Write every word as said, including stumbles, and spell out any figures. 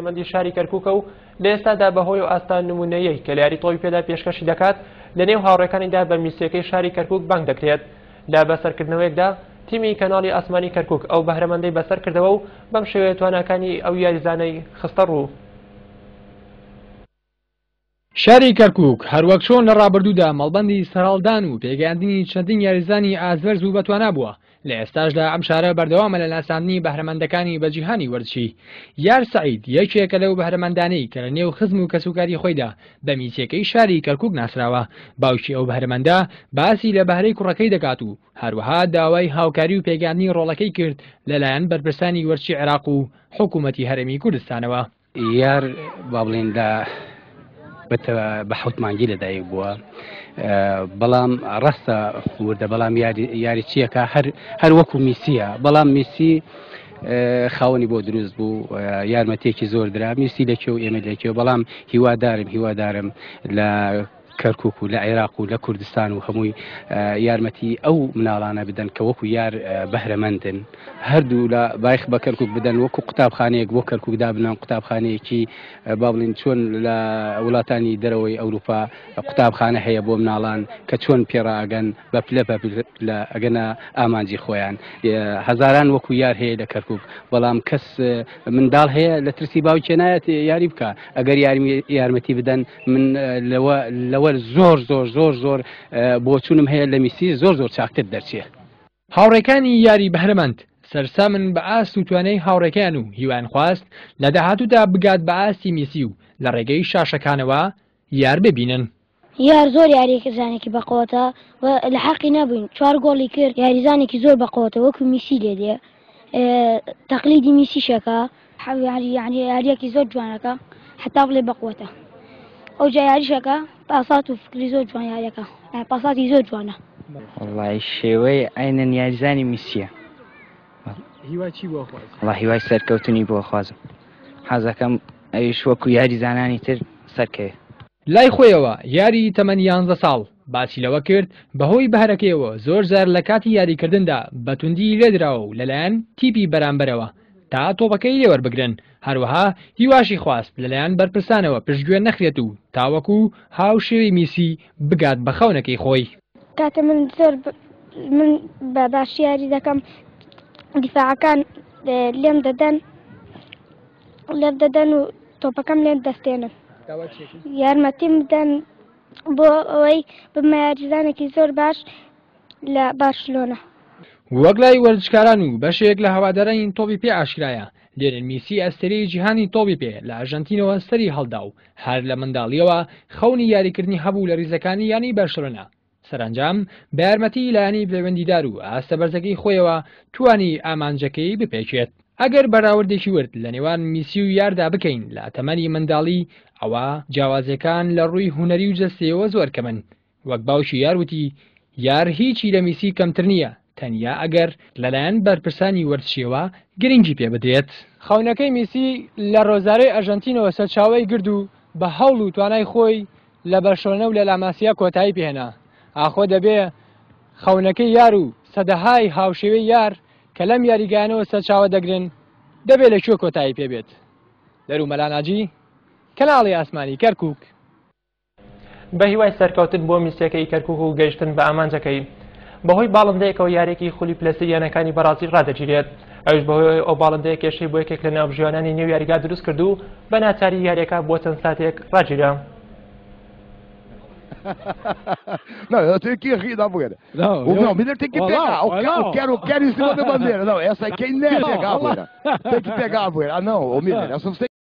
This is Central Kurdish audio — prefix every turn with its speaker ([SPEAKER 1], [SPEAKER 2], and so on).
[SPEAKER 1] بەهرەمەندی شاری کەرکووکە و لە ئێستادا بەهۆی و ئاستا نمونەیەی کە لە یاری تۆپی پێدا پێشکەشی دەکات لە نێو هاوڕێکانیدا بە میسیەکەی شاری کەرکووک بانگ دەکرێت. لە بەسەرکردنەوەیەکدا تیمی کەناڵی ئاسمانی کەرکووک ئەو بەهرەمەندەی بەسەر کردەوە و بەم شێوەیە تواناکانی ئەو یاریزانەی خستە ڕوو.
[SPEAKER 2] شاری کەرکووک هەروەک چۆن لە ڕابردوودا مەڵبەندی سەرهەڵدان و پێگەیاندنی چەندین یاریزانی ئازبەرز و بەتوانا بووە، لە ئێستاشدا ئەم شارە بەردەوامە لە ناساندنی بەهرەمەندەکانی بە جیهانی وەرزشی. یار سەعید یەکێکە لەو بەهرەمەندانەی کە لە نێو خزم و کەسوکاری خۆیدا بە میسیەکەی شاری کەرکووک ناسراوە. باوکی ئەو بەهرەمەندە باسی لە بەهرەی کوڕەکەی دەکات و هەروەها داوای هاوکاری و پێگەیاندنی ڕۆڵەکەی کرد لەلایەن بەرپرسانی وەرزشی عێراق و حکوومەتی هەرێمی کوردستانەوە.
[SPEAKER 3] یار با بڵێین لە بە حەوت مانگی لەدایک بووە، بەڵام ڕاستە وردە، بەڵام یاری چیەکە هەر هەر وەکو میسیە، بەڵام میسی خاوەنی بۆ دروست بوو، یارمەتێکی زۆر درا، میسی لەکێ و ئێمە لەکێ، بەڵام هیوادارم هیوادارم لە کەرکوک و لە عێراق و لە کوردستان و هەمووی یارمەتی ئەو مناڵانە بدەن کە وەکو یار بەهرەمەندن. هەردوو لە بایخ بە کەرکوک بدەن، وەکو قوتابخانەیەک بۆ کەرکوک دابنان، قوتابخانەیەکی با بڵین چۆن لە وڵاتانی دەرەوەی ئەوروپا قوتابخانە هەیە بۆ مناڵان کە چۆن پێڕاگەن بە پلە بە پلە ئەگەنە ئامانجی خۆیان. هەزاران وەکو یار هەیە لە کەرکوک، بەڵام کەس منداڵ هەیە لە ترسی باوکێ نایەت یاری بکە. ئەگەر یارمەتی بدەن من لەوە لەوە زۆر زۆر زۆر زۆر بۆچوونم هەیە لە میسی زۆر زۆر چاکتر دەرچێ.
[SPEAKER 2] هاوڕێکانی یاری بەهرەمەند سەرسامن بە ئاست و توانای هاوڕێکیان و هیوایان خواست لە داهاتوودا بگات بە ئاستی میسی و لە ڕێگەی شاشەکانەوە یار ببینن.
[SPEAKER 4] یار زۆر یاریزانێکی بەقوەتە و لە حەقی نەبووین، چوار گۆڵی کرد، یاریزانێکی زۆر بەقوەتە وەکو میسی لێ دێ، تەقلیدی میسیشەکە، یعنی یاریەکی زۆر جوانەکە حتا بڵێ بەقوەتە. ئەو جا یاریشەکە پاسات و فکری زۆر جوان یاریەکە، پاساتی زۆر جوانە.
[SPEAKER 5] وەڵڵاهی شێوەی عینەن یاریزانی میسیە.
[SPEAKER 2] هیوای چی بۆ خوازی؟
[SPEAKER 5] وەڵڵا هیوای سەرکەوتنی بۆ خوازم، حەزەکەم ئەویش وەکو یاریزانانی تر سەرکەوێ.
[SPEAKER 2] لای خۆیەوە یاری تەمەن یانزە ساڵ باسی لەوە کرد بەهۆی بەهرەکەیەوە زۆر جار لە کاتی یاریکردندا بە توندی لێدراوە و لەلایەن تیپی بەرامبەرەوە تا تۆپەکەی لێوەربگرن. هەروەها هیواشی خواست لەلایەن بەرپرسانەوە پشتگوێ نەخرێت و تاوەکو هاوشێوەی میسی بگات بە خەونەکەی خۆی.
[SPEAKER 4] کاتە من زۆر من بە باشی یاری دەکەم، دیفاعەکان لێم دەدەن لێم دەدەن و تۆپەکەم لێم دەستێنن. یارمەتیم بدەن بۆ ئەوەی ببمە یاریزانێکی زۆر باش لە بارشلۆنە.
[SPEAKER 2] وەک لای وەرزشکاران و بەشێک لە هەوادارانی تۆپی پێ ئاشکرایە، لیۆنێل میسی ئەستێرەی جیهانی تۆپی پێ لە ئەرژەنتینەوە سەری هەڵدا و هەر لە منداڵیەوە خەونی یاریکردنی هەبوو لە ریزەکانی یانەی بەرشلۆنە. سەرەنجام بە یارمەتی لایەنی پەیوەندیدار و ئاستە بەرزەکەی خۆیەوە توانی ئامانجەکەی بپێکێت. ئەگەر بەراوردێکی ورد لە نێوان میسی و یاردا بکەین لە تەمەنی منداڵی، ئەوە جیاوازیەکان لە ڕووی هونەری و جەستەیەوە زۆر کەمن. وەک باوکی یار وتی یار هیچی لە میسی کەمتر نییە، تەنیا ئەگەر لەلایەن بەرپرسانی وەرزشیەوە گرنگی پێ بدرێت. خەونەکەی میسی لە ڕۆزارۆی ئەرژەنتینەوە سەرچاوەی گرد و بە هەوڵ و توانای خۆی لە بەرشلۆنە و لە لاماسیا کۆتایی پێهێنا. ئاخۆ دەبێ خەونەکەی یار و سەدەهای هاوشێوەی یار کە لەم یاریگانەوە سەرچاوە دەگرن دەبێت لەکوێ کۆتایی پێبێت؟ دەرو مەلاناجی، کەناڵی ئاسمانی کەرکوک.
[SPEAKER 1] بە هیوای سەرکەوتن بۆ میسیەکەی کەرکوک و گەیشتن بە ئامانجەکەی. بەهۆی باڵندەیەکەوە یاریەکی خولی پلەسی یانەکانی بەرازیل ڕادەگیرێت، ئەویش بەهۆی ئەو باڵندەیە کێشەی بۆ یەکێک لە ناوبژیوانانی نێو یاریگا دروست کرد و بە ناچاری یاریەکە بۆ چەند ساتێک ڕاگیرا.
[SPEAKER 6] Não, eu tenho que rir da Bueira. Não, o, eu... não, o Miller tem que olá, pegar. Eu quero, eu quero, eu quero em cima da bandeira. Não, essa aqui é inédita pegar a Bueira. Tem que pegar a Bueira. Ah, não, ô Miller, essa você